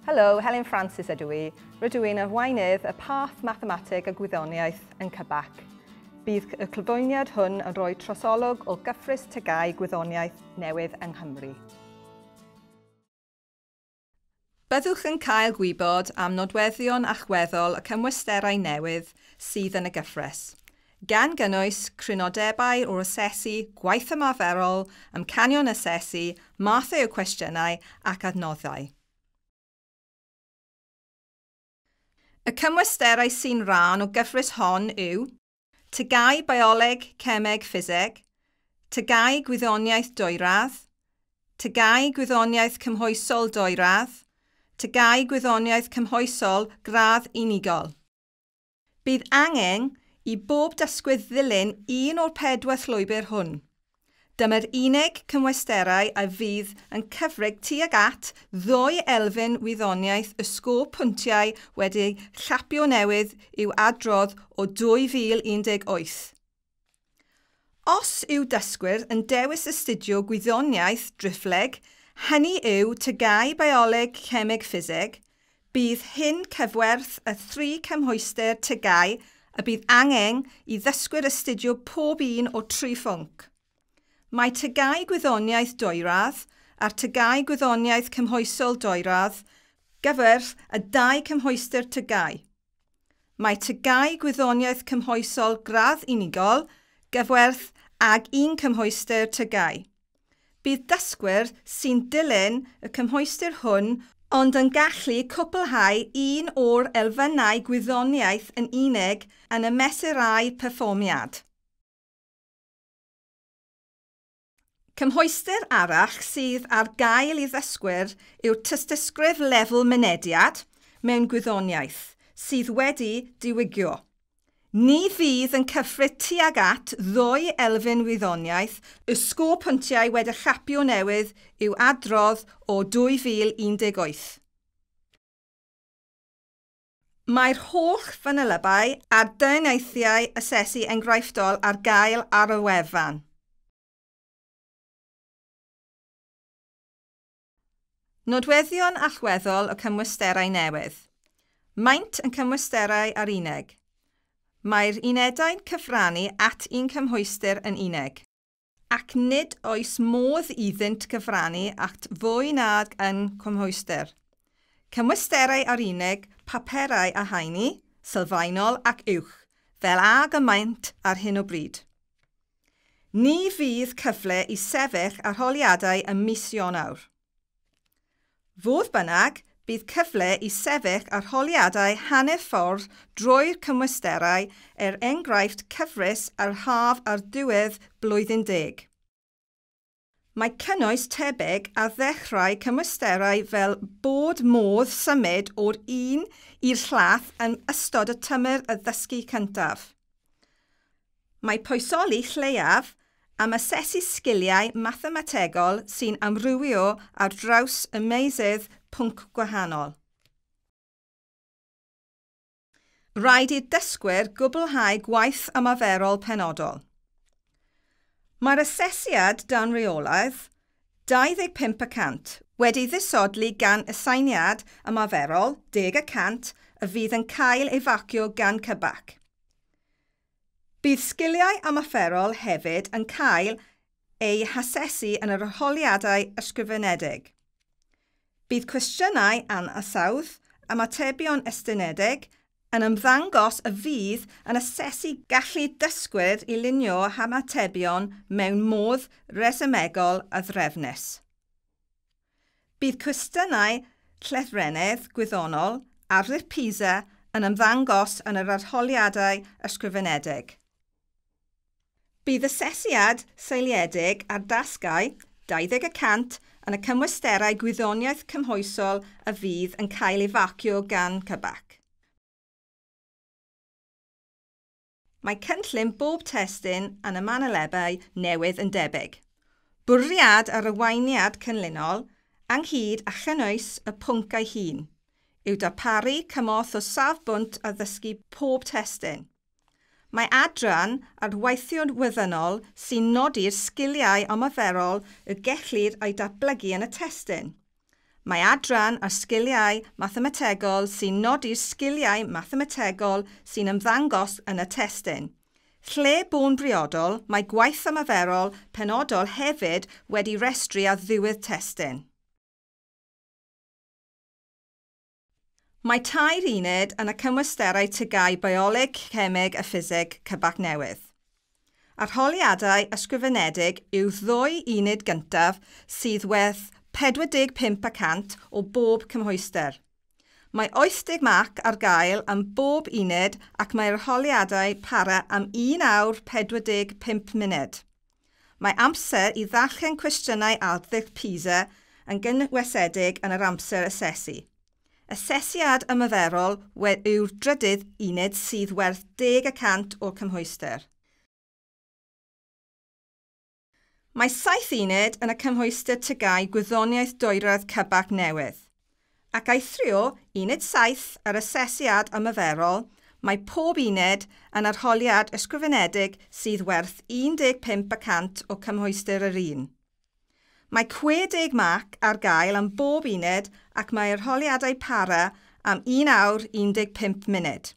Helo, Helen Francis ydw i. Rydw i'n arweinydd y Parth Mathemateg a Gwyddoniaeth yn CBAC. Bydd y cyflwyniad hwn yn rhoi trosolwg o gyfres TGAU gwyddoniaeth newydd yng Nghymru. Byddwch yn cael gwybod am nodweddion allweddol y cymwysterau newydd sydd yn y gyfres, gan gynnwys crynodebau o'r asesu, gwaith ymarferol, amcanion asesu, mathau o cwestiynau ac adnoddau. Y cymwysterau sy'n rhan o gyfres hon yw TGAU Bioleg, Cemeg, Ffiseg, TGAU Gwyddoniaeth Dwyradd, TGAU Gwyddoniaeth Cymhwysol Dwyradd, TGAU Gwyddoniaeth Cymhwysol Gradd Unigol. Bydd angen i bob dysgwyr ddilyn un o'r pedwar llwybr hwn. Dyma'r unig cymwysterau a fydd yn cyfrif tuag at ddwy elfen wyddoniaeth y sgôr pwyntiau wedi llapio newydd i'w adrodd o 2018. Os yw dysgwyr yn dewis astudio gwyddoniaeth driphlyg, hynny yw TGAU Bioleg, Cemeg, Ffiseg, bydd hyn cyfwerth y thri cymhwyster TGAU y bydd angen i ddysgwyr astudio pob un o tri phwnc. Mae TGAU Gwyddoniaeth Dwyradd a'r TGAU Gwyddoniaeth Cymhwysol Dwyradd gyferth y dau cymhwyster TGAU. Mae TGAU Gwyddoniaeth Cymhwysol Gradd Unigol gyfwerth ag un cymhwyster TGAU. Bydd dysgwyr sy'n dilyn y cymhwyster hwn ond yn gallu cwblhau un o'r elfennau gwyddoniaeth yn unig yn y mesurau perfformiad. Cymhwyster arall sydd ar gael i ddysgwyr yw'r tystysgrif lefel mynediad mewn gwyddoniaeth sydd wedi diwygio. Ni fydd yn cyfrif tuag at ddwy elfen wyddoniaeth y sgôr pwyntiau wedi llapio newydd i'w adrodd o 2018. Mae'r holl fanylebau a'r deunyddiau asesu enghreifftiol ar gael ar y wefan. Nodweddion allweddol y cymwysterau newydd. Maent yn cymwysterau ar unig. Mae'r unedau'n cyfrannu at un cymhwyster yn unig, ac nid oes modd iddynt gyfrannu at fwy nag un cymhwyster. Cymwysterau ar unig, paperau a haenu, sylfaenol ac uwch, fel ag y maent ar hyn o bryd. Ni fydd cyfle i sefyll arholiadau ym mis Ionawr. Fodd bynnag, bydd cyfle i sefyll arholiadau hanner ffordd drwy'r cymwysterau er enghraifft cyfres ar haf ar diwedd blwyddyn 10. Mae cynnwys tebyg ar ddechrau cymwysterau fel bod modd symud o'r un i'r llall yn ystod y tymor y ddysgu cyntaf. Mae pwysoli lleiaf am asesu sgiliau mathemategol sy'n amrywio ar draws y meysydd pwnc gwahanol. Rhaid i'r dysgwyr gwblhau gwaith ymarferol penodol. Mae'r asesiad dan reolaeth 25% wedi ddisodli gan aseiniad ymarferol 10% y fydd yn cael ei farcio gan CBAC. Bydd sgiliau ymarferol hefyd yn cael eu hasesu yn yr arholiadau ysgrifenedig. Bydd cwestiynau ansawdd ymatebion estynedig yn ymddangos y fydd yn asesu gallu dysgwyr i lunio hymatebion mewn modd resymegol a threfnus. Bydd cwestiynau llythrennedd gwyddonol ar PISA yn ymddangos yn yr arholiadau ysgrifenedig. Bydd asesiad seiliedig ar dasgau 20% yn y cymwysterau gwyddoniaeth cymhwysol y fydd yn cael ei farcio gan CBAC. Mae cynllun bob testun yn y manylebau newydd yn debyg. Bwriad yr arweiniad cynllunol, ynghyd â chynnwys y pwnc ei hun, yw darparu cymorth o safbwynt addysgu pob testun. Mae adran ar weithio'n wyddonol sy'n nodi'r sgiliau ymarferol y gellir eu datblygu yn y testun. Mae adran ar sgiliau mathemategol sy'n nodi'r sgiliau mathemategol sy'n ymddangos yn y testun. Lle bo'n briodol, mae gwaith ymarferol penodol hefyd wedi restru ar ddiwedd testun. Mae 3 uned yn y cymwysterau TGAU Bioleg, Cemeg a Ffiseg CBAC newydd. Arholiadau ysgrifenedig yw 2 uned gyntaf sydd werth 45% o bob cymhwyster. Mae 80 marc ar gael am bob uned ac mae'r arholiadau para am 1 awr 45 munud. Mae amser i ddarllen cwestiynau arddull PISA yn gynwysedig yn yr amser asesu. Asesiad ymarferol yw'r drydydd uned sydd werth 10% o'r cymhwyster. Mae 7 uned yn y cymhwyster TGAU Gwyddoniaeth Dwyradd CBAC newydd. Ac eithrio uned 7 yr asesiad ymarferol, mae pob uned yn arholiad ysgrifenedig sydd werth 15% o cymhwyster yr un. Mae 60 marc ar gael am bob uned ac mae arholiadau para am 1 awr 15 munud.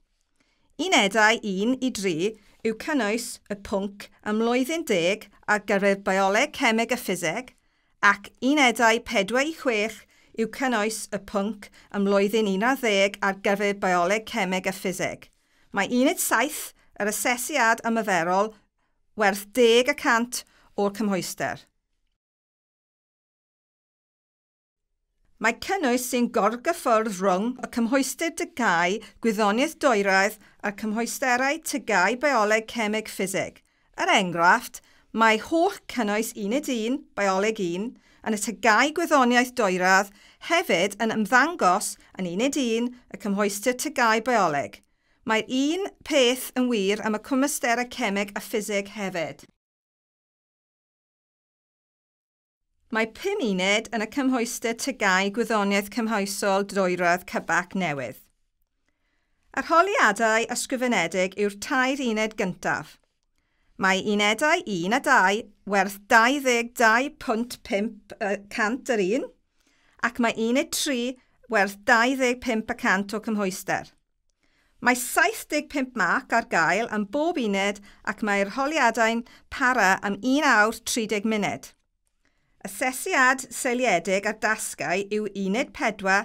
Unedau 1 i 3 yw cynnwys y pwnc ym mlwyddyn 10 ar gyfer bioleg, cemeg a ffiseg, ac unedau 4 i 6 yw cynnwys y pwnc ym mlwyddyn 11 ar gyfer bioleg, cemeg a ffiseg. Mae uned 7, yr asesiad ymarferol, werth 10% o'r cymhwyster. Mae cynnwys sy'n gorgyffwrdd rhwng y cymhwyster TGAU Gwyddoniaeth Dwyradd a'r cymhwysterau TGAU Bioleg, Cemeg, Ffiseg. Er enghraifft, mae holl cynnwys Uned 1, Bioleg 1, yn y TGAU Gwyddoniaeth Dwyradd hefyd yn ymddangos yn Uned 1, y cymhwyster TGAU Bioleg. Mae'r un peth yn wir am y cymwysterau Cemeg a Ffiseg hefyd. Mae 5 uned yn y cymhwyster TGAU Gwyddoniaeth Cymhwysol Dwyradd CBAC newydd. Arholiadau ysgrifenedig yw'r 3 uned gyntaf. Mae unedau 1 a 2 werth 22.5% yr un, ac mae uned 3 werth 25% o cymhwyster. Mae 75 marc ar gael am bob uned ac mae'r arholiadau'n para am 1 awr 30 munud. Asesiad seiliedig ar dasgau yw uned 4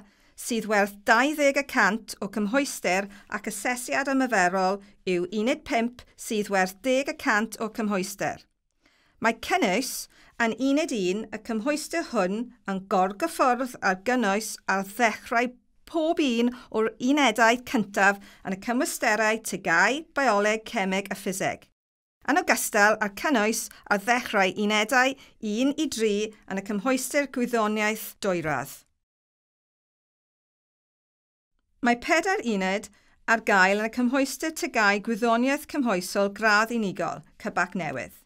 sydd werth 20% o cymhwyster ac asesiad ymarferol yw uned 5 sydd werth 10% o cymhwyster. Mae cynnwys yn uned 1 y cymhwyster hwn yn gorgyffwrdd ar gynnwys ar ddechrau pob un o'r unedau cyntaf yn y cymwysterau TGAU, Bioleg, Cemeg a Ffiseg. Yn ogystal â'r cynnwys ar ddechrau unedau 1 i 3 yn y cymhwyster Gwyddoniaeth Dwyradd. Mae 4 uned ar gael yn y cymhwyster TGAU Gwyddoniaeth Cymhwysol Gradd Unigol, CBAC newydd.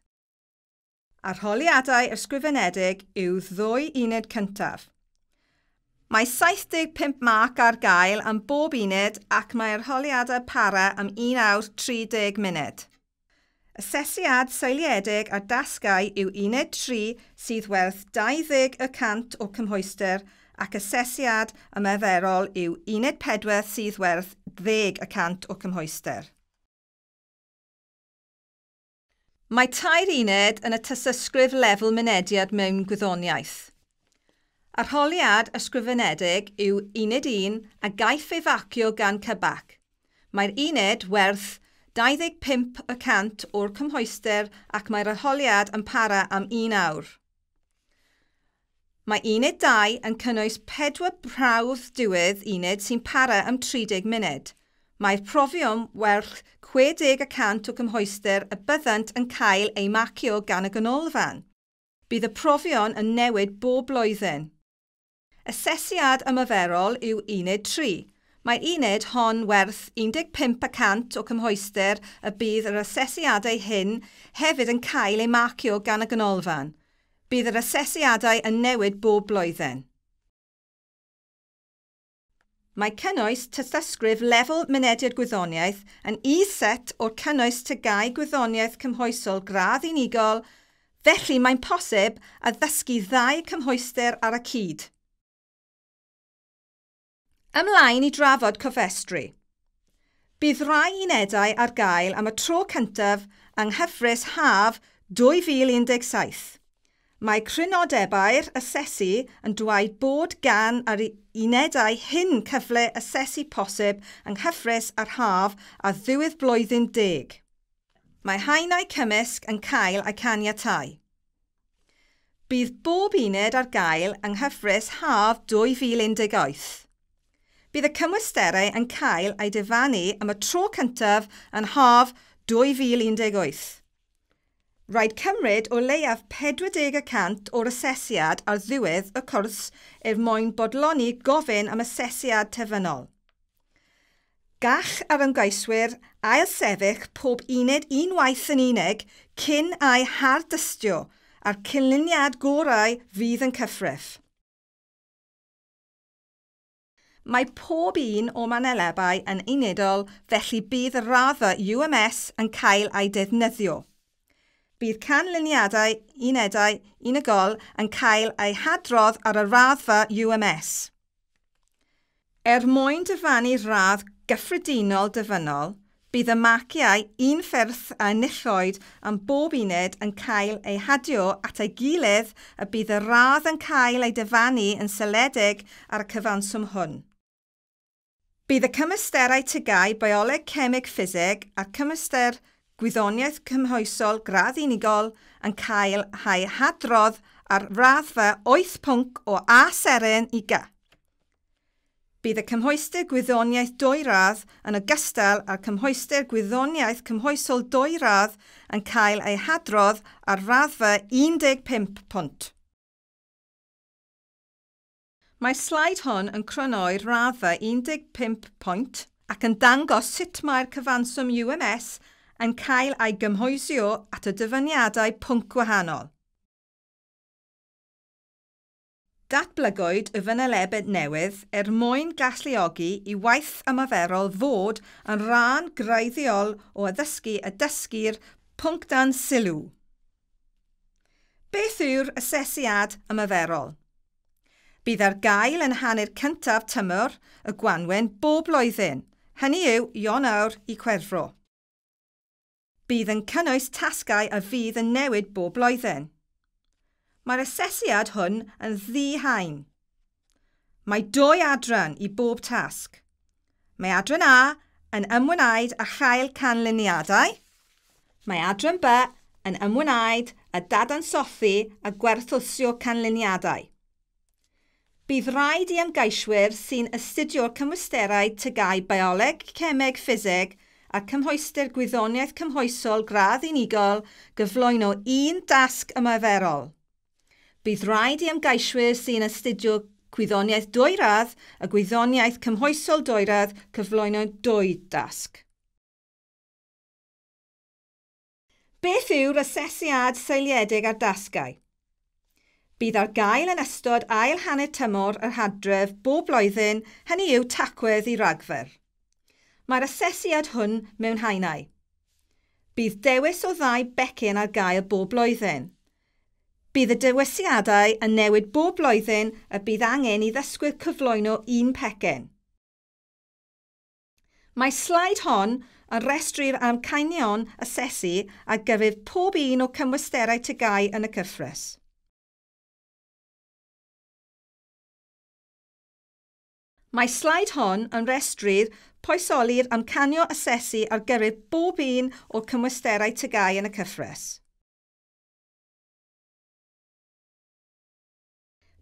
Arholiadau ysgrifenedig yw 2 uned cyntaf. Mae 75 marc ar gael am bob uned ac mae arholiadau para am 1 awr 30 munud. Asesiad seiliedig ar dasgau yw uned 3 sydd werth 20% o cymhwyster ac asesiad ymarferol yw uned 4 sydd werth 10% o cymhwyster. Mae 3 uned yn y tystysgrif lefel mynediad mewn gwyddoniaeth. Arholiad ysgrifenedig yw uned 1 a gaiff ei facio gan CBAC. Mae'r uned werth 25% o'r cymhwyster ac mae'r arholiad yn para am 1 awr. Mae uned 2 yn cynnwys 4 prawf diwedd uned sy'n para am 30 munud. Mae'r profion werth 60% o cymhwyster y byddant yn cael eu marcio gan y ganolfan. Bydd y profion yn newid bob blwyddyn. Asesiad ymarferol yw uned 3. Mae uned hon werth 15% o cymhwyster y bydd yr asesiadau hyn hefyd yn cael eu marcio gan y ganolfan. Bydd yr asesiadau yn newid bob blwyddyn. Mae cynnwys tystysgrif lefel mynediad gwyddoniaeth yn is-set o'r cynnwys TGAU Gwyddoniaeth Cymhwysol gradd unigol, felly mae'n posib addysgu ddau cymhwyster ar y cyd. Ymlaen i drafod cofrestru. Bydd rhai unedau ar gael am y tro cyntaf yng nghyfres haf 2017. Mae crynodebau'r asesu yn dweud bod gan yr unedau hyn cyfle asesu posib yng nghyfres yr haf a ddiwedd blwyddyn deg. Mae haenau cymysg yn cael eu caniatáu. Bydd bob uned ar gael yng nghyfres haf 2018. Bydd y cymwysterau yn cael eu dyfarnu am y tro cyntaf yn haf 2018. Rhaid cymryd o leiaf 40% o'r asesiad ar ddiwedd y cwrs er mwyn bodloni gofyn am asesiad terfynol. Gall yr ymgeiswyr ailsefyll pob uned unwaith yn unig cyn ei hardystio a'r canlyniad gorau fydd yn cyfrif. Mae pob un o manylebau yn unedol, felly bydd y raddfa UMS yn cael ei defnyddio. Bydd canlyniadau unedau unigol yn cael eu hadrodd ar y raddfa UMS. Er mwyn dyfarnu radd gyffredinol dyfynol, bydd y marciau unffurf a enillwyd am bob uned yn cael eu hadio at ei gilydd a bydd y radd yn cael ei dyfarnu yn seiliedig ar y cyfanswm hwn. Bydd y cymwysterau TGAU Bioleg, Cemeg, Ffiseg a'r cymhwyster Gwyddoniaeth Cymhwysol gradd unigol yn cael eu hadrodd ar raddfa 8 pwnc o A seren i G. Bydd y cymhwyster Gwyddoniaeth dwy radd yn ogystal â'r cymhwyster Gwyddoniaeth Cymhwysol dwy radd yn cael eu hadrodd ar raddfa 15 pwynt. Mae'r sleid hon yn crynhoi'r raddfa 15 pwynt ac yn dangos sut mae'r cyfanswm UMS yn cael ei gymhwyso at y dyfarniadau pwnc gwahanol. Datblygwyd y fanylebau newydd er mwyn galluogi i waith ymarferol fod yn rhan greiddiol o addysgu a dysgu'r pwnc dan sylw. Beth yw'r asesiad ymarferol? Bydd ar gael yn hanner cyntaf tymor y gwanwyn bob blwyddyn, hynny yw Ionawr i Chwefror. Bydd yn cynnwys tasgau a fydd yn newid bob blwyddyn. Mae'r asesiad hwn yn ddi-haen. Mae dwy adran i bob tasg. Mae adran A yn ymwneud â chael canlyniadau. Mae adran B yn ymwneud â dadansoddi a gwerthuso canlyniadau. Bydd rhaid i ymgeiswyr sy'n astudio'r cymwysterau TGAU Bioleg, Cemeg, Ffiseg a'r cymhwyster Gwyddoniaeth Cymhwysol gradd unigol gyflwyno un dasg ymarferol. Bydd rhaid i ymgeiswyr sy'n astudio Gwyddoniaeth dwy radd a Gwyddoniaeth Cymhwysol dwy radd cyflwyno dwy dasg. Beth yw'r asesiad seiliedig ar dasgau? Bydd ar gael yn ystod ail hanner tymor yr Hydref bob blwyddyn, hynny yw Tachwedd i Ragfyr. Mae'r asesiad hwn mewn haenau. Bydd dewis o ddau becyn ar gael bob blwyddyn. Bydd y dewisiadau yn newid bob blwyddyn a bydd angen i ddysgwyr cyflwyno un pecyn. Mae sleid hon yn rhestru'r amcanion asesu ar gyfer pob un o'r cymwysterau TGAU yn y cyfres. Mae sleid hon yn rhestru'r poesoli'r amcanion asesu ar gyfer bob un o'r cymwysterau TGAU yn y cyfres.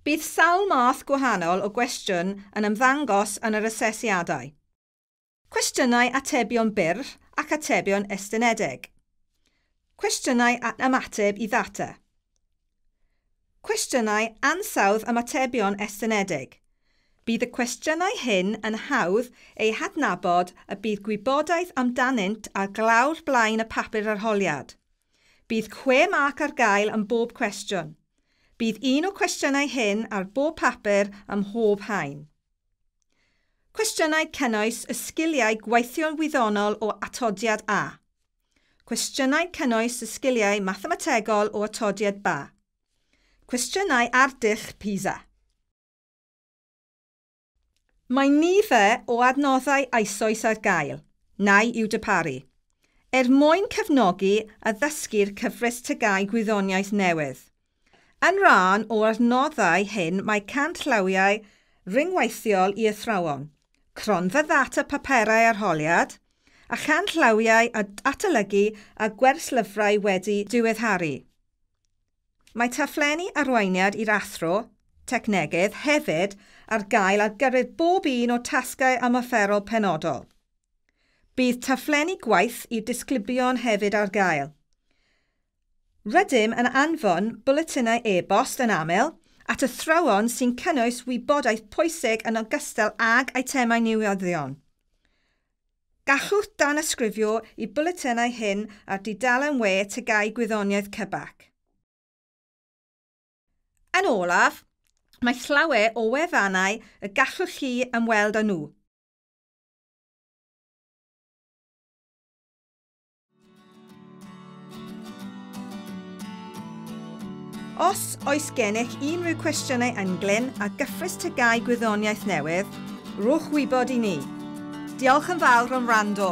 Bydd sawl math gwahanol o gwestiwn yn ymddangos yn yr asesiadau. Cwestiynau atebion byr ac atebion estynedig. Cwestiynau ymateb i ddata. Cwestiynau ansawdd ymatebion estynedig. Bydd y cwestiynau hyn yn hawdd eu hadnabod a bydd gwybodaeth amdanynt ar glawr blaen y papur arholiad. Bydd 6 marc ar gael am bob cwestiwn. Bydd un o'r cwestiynau hyn ar bob papur ym mhob haen. Cwestiynau cynnwys y sgiliau gweithio'n wyddonol o atodiad A. Cwestiynau cynnwys y sgiliau mathemategol o atodiad B. Cwestiynau ar dull PISA. Mae nifer o adnoddau eisoes ar gael, neu i'w darparu, er mwyn cefnogi a ddysgu'r cyfres TGAU gwyddoniaeth newydd. Yn rhan o'r adnoddau hyn mae canllawiau rhyngweithiol i athrawon, cronfa ddata paperau arholiad, a chanllawiau adolygu a gwerslyfrau wedi diweddaru. Mae taflenni arweiniad i'r athro, technegydd, hefyd ar gael ar gyfer bob un o'r tasgau ymarferol penodol. Bydd taflenni gwaith i'r disgyblion hefyd ar gael. Rydym yn anfon bwletinau e-bost yn aml at athrawon sy'n cynnwys wybodaeth pwysig yn ogystal ag eitemau newyddion. Gallwch danysgrifio i bwletinau hyn ar dudalen we TGAU Gwyddoniaeth CBAC. Yn olaf, mae llawer o wefannau y gallwch chi ymweld â nhw. Os oes gennych unrhyw cwestiynau ynglyn â gyfres TGAU Gwyddoniaeth newydd, rhowch wybod i ni. Diolch yn fawr am wrando.